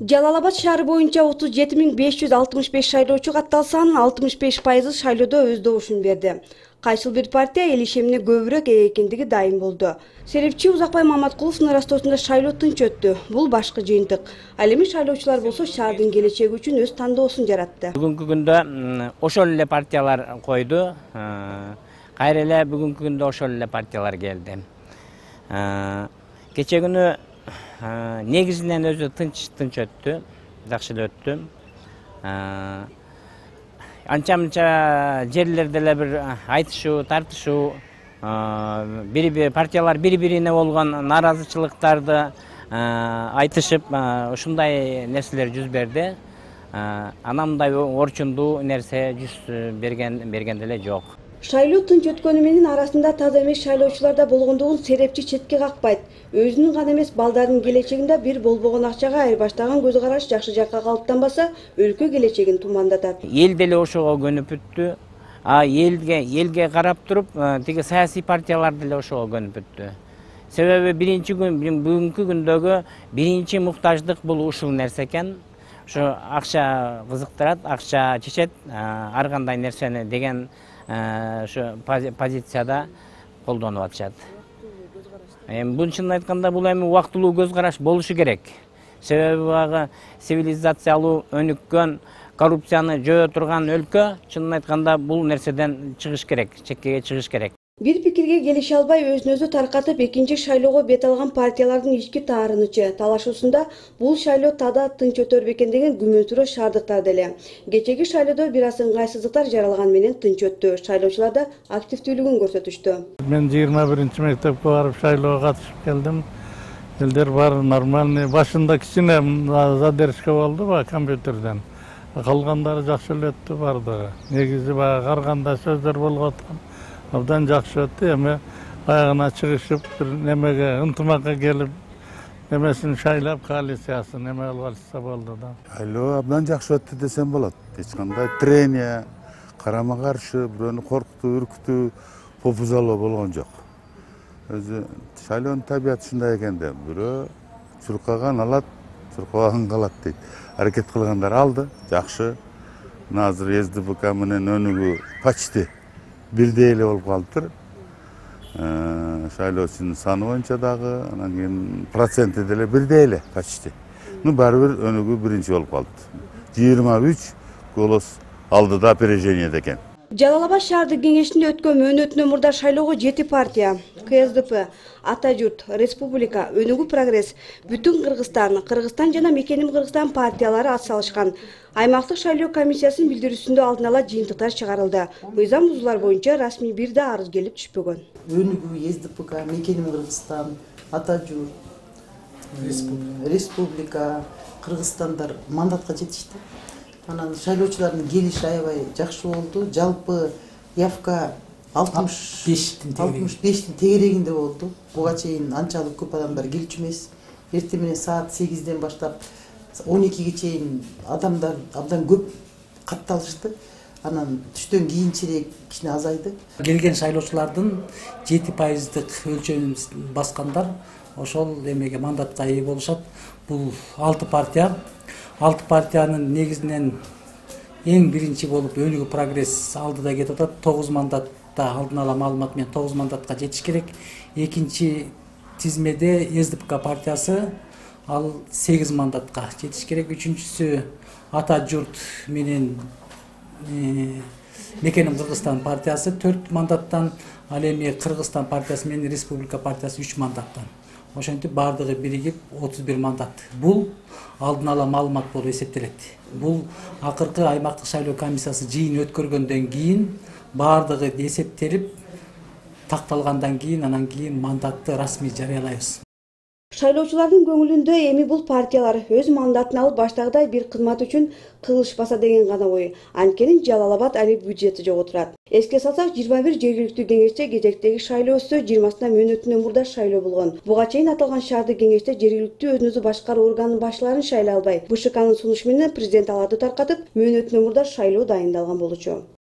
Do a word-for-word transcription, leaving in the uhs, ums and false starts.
Жалал Абад шаары боюнча отуз жети миң беш жүз алтымыш беш шайлоочу катталсан, алтымыш беш пайызы шайлоодо өз добушун берди. Кайсыл бир партия эл ишемине көбүрөөк ээ экендиги дайым болду. Серепчи Узакбай Маматкуловдун ырастоосунда шайлоо тынч өттү. Бул башкы жыйынтык. Ал эми шайлоочулар болсо шаардын келечеги үчүн өз тандоосун жаратты. Бүгүнкү күндө ошол эле партиялар койду. Кайра эле бүгүнкү күндө ошол эле партиялар келди. Кече күнү негизинен өзү тынч тынч өттү, жакшы эле өттү. Анча-мынча жерлерде эле бир айтышуу, тартышуу, бири-бири партиялар бири-бирине болгон нааразычылыктарды айтышып, ушундай нерселер жүз берди. Анан мындай орчундуу нерсе жүз берген берген деле жок. Шайлоо тынч өткөнү менен арасында таза эмес шайлоочулар да болгондугун серепчи четке какпайт. Өзүнүн гана эмес, балдардын келечегинде бир болбогон акчага айырбаштаган көз караш жакшы жакка калыптанбаса, өлкө келечегин тумандатат. Эл деле ошого көнүп бүттү. А элге элге карап туруп, тиги саясий партиялар деле ошого көнүп бүттү. Себеби биринчи күн бүгүнкү күндөгү биринчи муктаждык бул ушул нерсе экен. Ошо акча кызыктырат, акча чечет, ар кандай нерсени деген ошо позицияда колдонуп атышат. Эми бун чынын айтканда бул эми убактылуу көз караш болушу керек. Себеби багы цивилизациялуу, өнүккөн, коррупцияны жөө турган өлкө, чынын айтканда бул нерседен чыгыш керек, чеккеге чыгыш керек. Бир пикирге келише албай өзүн өзү таркатып, экинчи шайлоого бет алган партиялардын ички таарынычы талашуусунда бул шайлоо тада тынч өтөр бекен деген күмөнсүрөө шаардыктар деле. Кечеги шайлоодо бир аз ыңгайсыздыктар жаралган менен тынч өттү. Шайлоочулар да активдүүлүгүн көрсөтүштү. Мен жыйырма биринчи мектепке барып шайлоого катышып келдим. Элдер баары нормальный. Башында кичине задержка болду ба компьютерден. Калгандары жакшы эле өттү бардыгы. Негизи баягы ар кандай сөздөр болуп аткан. Абдан жакшы өттү. Эми баягына чыгышып, бир немеге ынтымакка келип, немесин шайлап, коалициясын неме кылып алышса болду да. Шайлоо абдан жакшы өттү десем болот. Эч кандай трения, карама каршы, бирөөнү коркутуу, үркүтүү, попузалоо болгон жок. Өзү шайлоонун табияты ушундай экен да, бирөө чуркаган алат, чуркабаган калат дейт. Аракет кылгандар алды, жакшы. Мына азыр СДПК менен өнүгүү почти бирдей эле болуп калыптыр. Шайлоочунун саны боюнча дагы, анан кийин проценти деле бирдей эле почти. Ну баары бир өнүгүү биринчи болуп калды. жыйырма үч голос алдыда опережениеде экен. Жалал Абад шаардык кеңешинде өткөн мөөнөтүнөн мурда шайлоого жети партия — КСДП, Ата журт, Республика, Өнүгүү прогресс, Бүтүн Кыргызстан, Кыргызстан жана Мекеним Кыргызстан партиялары атсалышкан. Аймактык шайлоо комиссиясынын билдирүүсүндө алдын ала жыйынтыктар чыгарылды. Мыйзам бузуулар боюнча расмий бир да арыз келип түшпөгөн. Өнүгүү, СДПК, Мекеним Кыргызстан, Ата журт, Республика, Кыргызстандар мандатка жетишти. Анан шайлоочулардын келиши аябай жакшы болду. Жалпы явка алтымыш бештин тегерегинде болду. Буга чейин анчалык көп адамдар келчү эмес. Эртең менен саат сегизден баштап он экиге чейин адамдар абдан көп катталышты. Анан түштөн кийинчерээк кичине азайды. Келген шайлоочулардын жети пайыздык өлчөмүн баскандар ошол эмеге мандатка ээ болушат. Бул алты партия. Алты партиянын негизинен эң биринчи болуп Өнүгүү прогресс алдыда кетип атат. тогуз мандатта алдын ала маалымат менен тогуз мандатка жетиш керек. Экинчи тизмеде СДПК партиясы ал сегиз мандатка жетиш керек. Үчүнчүсү Ата журт менен Мекеним Кыргызстан партиясы төрт мандаттан, ал эми Кыргызстан партиясы менен Республика партиясы үч мандаттан. Ошентип бардыгы биригип отуз бир мандат. Бул алдын ала маалымат болуп эсептелет. Бул акыркы аймактык шайлоо комиссиясы жыйын өткөргөндөн кийин бардыгы эсептелип такталгандан кийин анан кийин мандатты расмий жарыялайбыз. Шайлоочулардын көңүлүндө эми бул партиялар өз мандатын алып баштагыдай бир кызмат үчүн кылышпаса деген гана ой. Анткени Жалал Абад али бюджети жок отурат. Эске салсак, жыйырма бир жергиликтүү кеңеште кезектеги шайлоо өтсө, жыйырмасына мөөнөтүнөн мурда шайлоо болгон. Буга чейин аталган шаардык кеңеште жергиликтүү өзүн өзү башкаруу органынын башчыларын шайлай албай, БШКнын сунушу менен президент аларды таркатып, мөөнөтүнөн мурда шайлоо дайындалган болчу.